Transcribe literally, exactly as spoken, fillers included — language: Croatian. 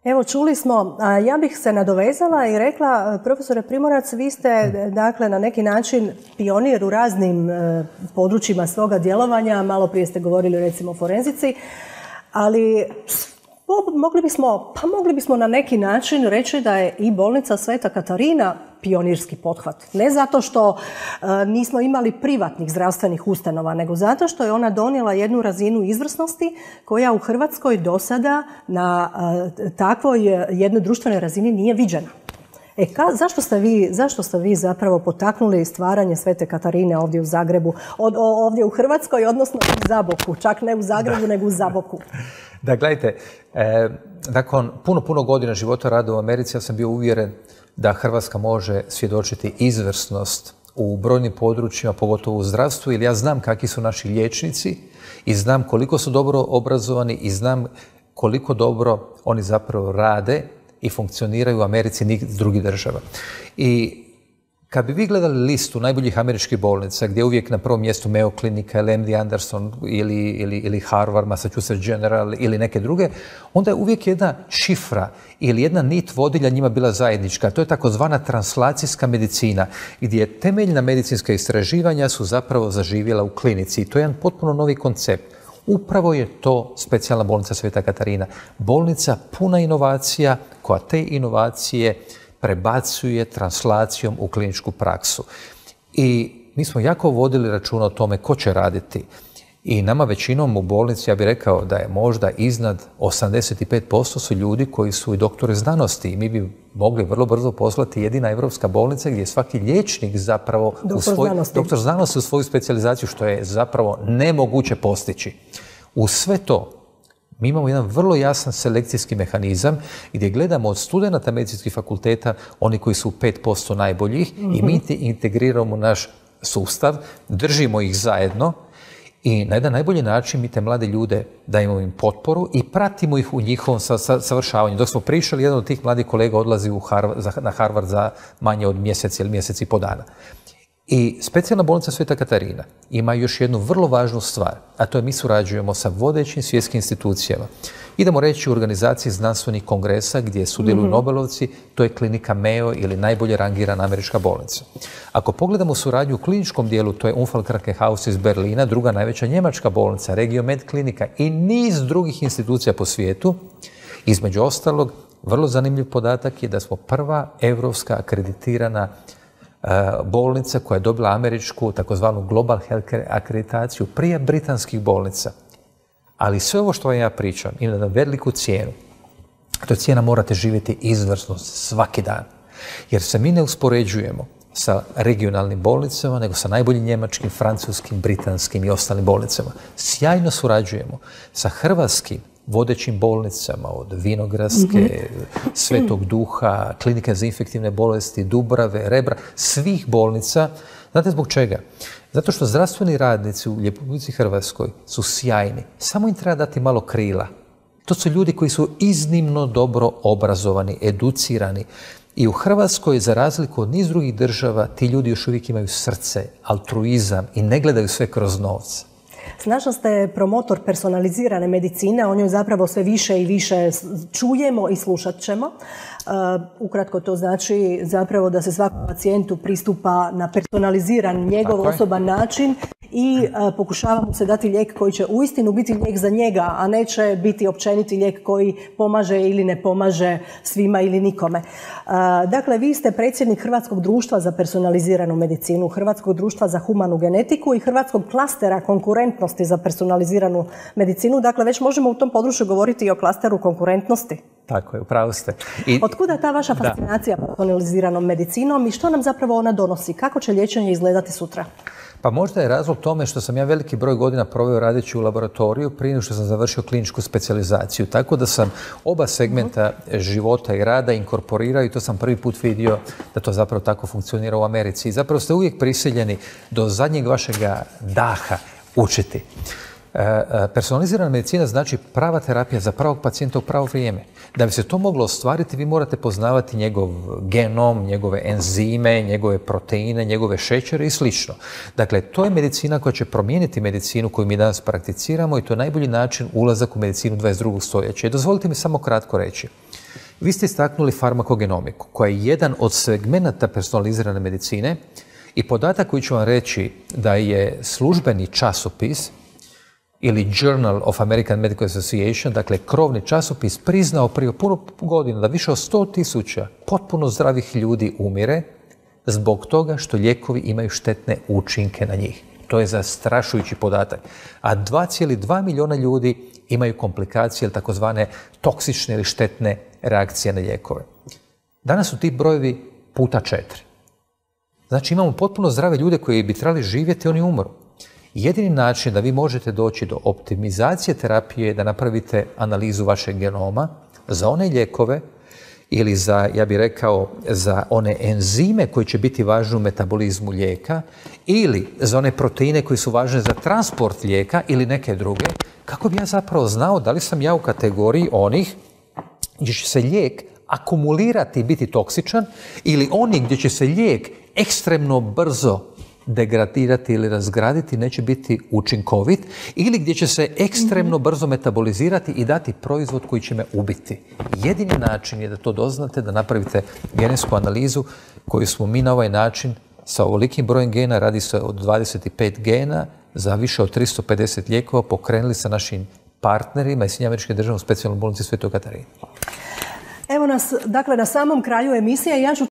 Evo, čuli smo, ja bih se nadovezala i rekla, profesore Primorac, vi ste dakle na neki način pionir u raznim područjima svoga djelovanja, malo prije ste govorili recimo o forenzici, ali mogli bismo, pa mogli bismo na neki način reći da je i bolnica Sveta Katarina pionirski pothvat. Ne zato što e, nismo imali privatnih zdravstvenih ustanova, nego zato što je ona donijela jednu razinu izvrsnosti koja u Hrvatskoj do sada na e, takvoj jednoj društvenoj razini nije viđena. E, ka, zašto, ste vi, zašto ste vi zapravo potaknuli stvaranje Svete Katarine ovdje u Zagrebu, od, o, ovdje u Hrvatskoj, odnosno u Zaboku, čak ne u Zagrebu, da. nego u Zaboku? Da, gledajte, e, nakon puno, puno godina života rada u Americi, ja sam bio uvjeren da Hrvatska može svjedočiti izvrsnost u brojnim područjima, pogotovo u zdravstvu, jer ja znam kakvi su naši liječnici i znam koliko su dobro obrazovani i znam koliko dobro oni zapravo rade i funkcioniraju u Americi ni drugih država. I kad bi vi gledali listu najboljih američkih bolnica, gdje je uvijek na prvom mjestu Mayo Klinika ili M D Anderson ili, ili, ili Harvard, Massachusetts General ili neke druge, onda je uvijek jedna šifra ili jedna nit vodilja njima bila zajednička. To je takozvana translacijska medicina, gdje temeljna medicinska istraživanja su zapravo zaživjela u klinici. I to je jedan potpuno novi koncept. Upravo je to specijalna bolnica Sveta Katarina. Bolnica puna inovacija koja te inovacije prebacuje translacijom u kliničku praksu. I mi smo jako vodili računa o tome ko će raditi. I nama većinom u bolnici, ja bih rekao da je možda iznad osamdeset pet posto su ljudi koji su i doktori znanosti. I mi bi mogli vrlo brzo poslati jedina evropska bolnica gdje je svaki liječnik zapravo doktor, u svoj, znanosti. doktor znanosti u svoju specijalizaciju, što je zapravo nemoguće postići. U sve to mi imamo jedan vrlo jasan selekcijski mehanizam gdje gledamo od studenata medicinskih fakulteta, oni koji su pet posto najboljih, mm-hmm. i mi integriramo naš sustav, držimo ih zajedno i na jedan najbolji način mi te mlade ljude dajemo im potporu i pratimo ih u njihovom savršavanju. Dok smo pričali, jedan od tih mladih kolega odlazi u Harvard, za, na Harvard za manje od mjesec ili mjesec i po dana. I specijalna bolnica Sveta Katarina ima još jednu vrlo važnu stvar, a to je mi surađujemo sa vodećim svjetskim institucijama. Idemo reći u organizaciji znanstvenih kongresa gdje sudjeluju mm-hmm. Nobelovci, to je klinika Mayo ili najbolje rangirana američka bolnica. Ako pogledamo suradnju u kliničkom dijelu, to je Unfallkrankenhaus iz Berlina, druga najveća njemačka bolnica, Regiomed klinika i niz drugih institucija po svijetu. Između ostalog, vrlo zanimljiv podatak je da smo prva evropska akreditirana bolnica koja je dobila američku takozvanu Global Healthcare akreditaciju prije britanskih bolnica. Ali sve ovo što vam ja pričam ima na veliku cijenu. To je cijena morate živjeti izvrsnost svaki dan. Jer se mi ne uspoređujemo sa regionalnim bolnicama, nego sa najboljim njemačkim, francuskim, britanskim i ostalim bolnicama. Sjajno surađujemo sa hrvatskim vodećim bolnicama od Vinogradske, mm-hmm. Svetog Duha, Klinike za infektivne bolesti, Dubrave, Rebra, svih bolnica. Znate zbog čega? Zato što zdravstveni radnici u Republici Hrvatskoj su sjajni. Samo im treba dati malo krila. To su ljudi koji su iznimno dobro obrazovani, educirani. I u Hrvatskoj, za razliku od niz drugih država, ti ljudi još uvijek imaju srce, altruizam i ne gledaju sve kroz novce. Snažno ste promotor personalizirane medicine, o njoj zapravo sve više i više čujemo i slušat ćemo. Uh, ukratko to znači zapravo da se svakom pacijentu pristupa na personaliziran, njegov osoban način i uh, pokušava mu se dati lijek koji će uistinu biti lijek za njega, a neće biti općeniti lijek koji pomaže ili ne pomaže svima ili nikome. Uh, dakle, vi ste predsjednik Hrvatskog društva za personaliziranu medicinu, Hrvatskog društva za humanu genetiku i Hrvatskog klastera konkurentnosti za personaliziranu medicinu. Dakle, već možemo u tom području govoriti i o klasteru konkurentnosti. Tako je, upravo ste. I... Otkuda ta vaša fascinacija personaliziranom medicinom i što nam zapravo ona donosi? Kako će liječenje izgledati sutra? Pa možda je razlog tome što sam ja veliki broj godina proveo radeći u laboratoriju prije nego što sam završio kliničku specijalizaciju. Tako da sam oba segmenta uh-huh. života i rada inkorporirao i to sam prvi put vidio da to zapravo tako funkcionira u Americi. I zapravo ste uvijek prisiljeni do zadnjeg vašega daha učiti. Personalizirana medicina znači prava terapija za pravog pacijenta u pravo vrijeme. Da bi se to moglo ostvariti, vi morate poznavati njegov genom, njegove enzime, njegove proteine, njegove šećere i slično. Dakle, to je medicina koja će promijeniti medicinu koju mi danas prakticiramo i to je najbolji način ulazak u medicinu dvadeset drugog stoljeća. I dozvolite mi samo kratko reći. Vi ste istaknuli farmakogenomiku, koja je jedan od segmenata personalizirane medicine i podatak koji ću vam reći da je službeni časopis ili Journal of American Medical Association, dakle krovni časopis, priznao prije puno godina da više od sto tisuća potpuno zdravih ljudi umire zbog toga što lijekovi imaju štetne učinke na njih. To je zastrašujući podatak. A dva zarez dva milijuna ljudi imaju komplikacije ili takozvane toksične ili štetne reakcije na lijekove. Danas su ti brojevi puta četiri. Znači imamo potpuno zdrave ljude koji bi trebali živjeti, oni umru. Jedini način da vi možete doći do optimizacije terapije je da napravite analizu vašeg genoma za one lijekove ili za, ja bih rekao, za one enzime koji će biti važni u metabolizmu lijeka ili za one proteine koji su važne za transport lijeka ili neke druge, kako bi ja zapravo znao da li sam ja u kategoriji onih gdje će se lijek akumulirati i biti toksičan ili oni gdje će se lijek ekstremno brzo degradirati ili razgraditi, neće biti učinkovit, ili gdje će se ekstremno brzo metabolizirati i dati proizvod koji će me ubiti. Jedini način je da to doznate, da napravite genetsku analizu koju smo mi na ovaj način sa ovolikim brojem gena, radi se od dvadeset pet gena, za više od tristo pedeset lijekova pokrenuli sa našim partnerima i Sjedinjenim Američkim Državama u specijalnoj bolnici Svetoj Katarini. Evo nas, dakle, na samom kraju emisije. Ja ću